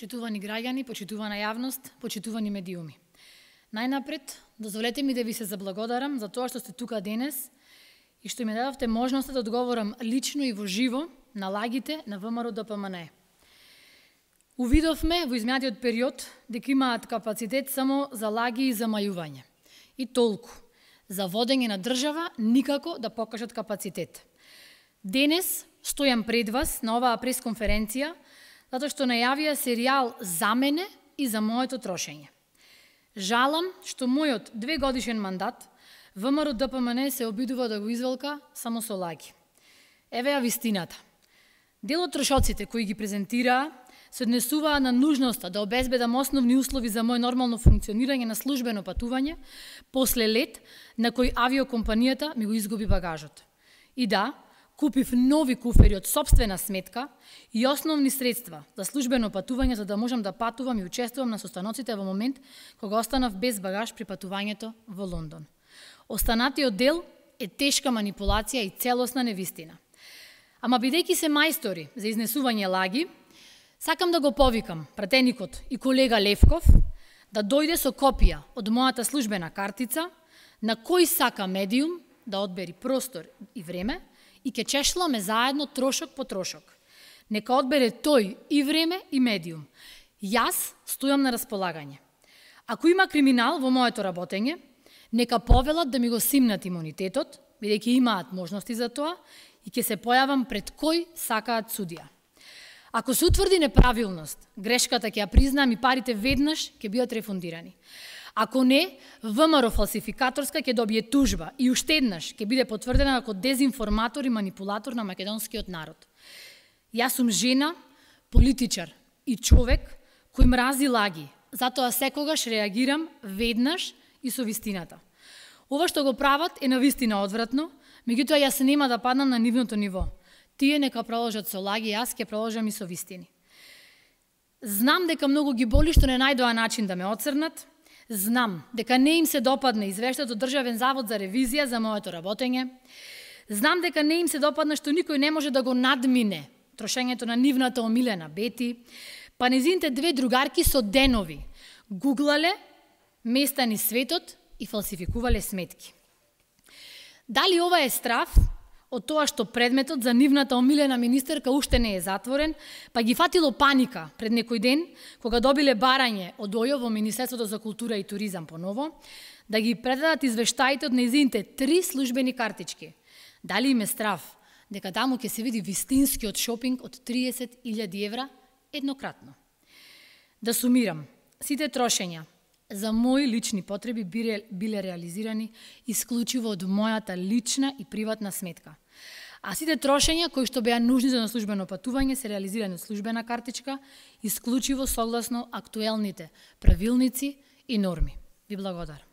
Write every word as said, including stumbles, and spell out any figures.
Почитувани граѓани, почитувана јавност, почитувани медиуми. Најнапред, дозволете ми да ви се заблагодарам за тоа што сте тука денес и што ми дадовте можноста да одговорам лично и во живо на лагите на ВМРО Д П М Н Е. Увидовме во изминатиот период дека имаат капацитет само за лаги и замајување. И толку. За водење на држава никако да покажат капацитет. Денес стојам пред вас на оваа пресконференција затоа што најавија серијал за мене и за моето трошење. Жалам што мојот двегодишен мандат ВМРО Д П М Н Е се обидува да го извелка само со лаги. Еве ја вистината. Дел од трошоците кои ги презентираа се однесуваа на нужноста да обезбедам основни услови за мој нормално функционирање на службено патување после лет на кој авиокомпанијата ми го изгуби багажот. И да, купив нови куфери од сопствена сметка и основни средства за службено патување за да можам да патувам и учествувам на состаноците во момент кога останав без багаж при патувањето во Лондон. Останатиот дел е тешка манипулација и целосна невистина. Ама бидејќи се мајстори за изнесување лаги, сакам да го повикам пратеникот и колега Левков да дојде со копија од мојата службена картица на кој сака медиум да одбери простор и време и ќе чешламе заедно трошок по трошок. Нека одбере тој и време и медиум. Јас стојам на располагање. Ако има криминал во моето работење, нека повелат да ми го симнат имунитетот, бидејќи имаат можности за тоа, и ќе се појавам пред кој сакаат судија. Ако се утврди неправилност, грешката ќе ја признам и парите веднаш ќе бидат рефундирани. Ако не, ВМРО фалсификаторска ќе добие тужба и уште еднаш ќе биде потврдена како дезинформатор и манипулатор на македонскиот народ. Јас сум жена, политичар и човек кој мрази лаги, затоа секогаш реагирам веднаш и со вистината. Ова што го прават е навистина одвратно, меѓутоа јас нема да паднам на нивното ниво. Тие нека продолжат со лаги, јас ќе продолжам и со вистини. Знам дека многу ги боли што не најдоа начин да ме оцрнат. Знам дека не им се допадне извештајот од Државен завод за ревизија за моето работење. Знам дека не им се допадна што никој не може да го надмине трошењето на нивната омилена Бети, па незините две другарки со денови гуглале места низ светот и фалсификувале сметки. Дали ова е страв од тоа што предметот за нивната омилена министерка уште не е затворен, па ги фатило паника пред некој ден, кога добиле барање од ОЈО во Министерството за култура и туризам поново, да ги предадат извештаите од нејзините три службени картички. Дали им е страв дека таму ќе се види вистинскиот шопинг од триесет илјади евра еднократно? Да сумирам, сите трошења за мои лични потреби биле реализирани исклучиво од мојата лична и приватна сметка. А сите трошења кои што беа нужни за службено патување се реализирани од службена картичка, исклучиво согласно актуелните правилници и норми. Ви благодарам.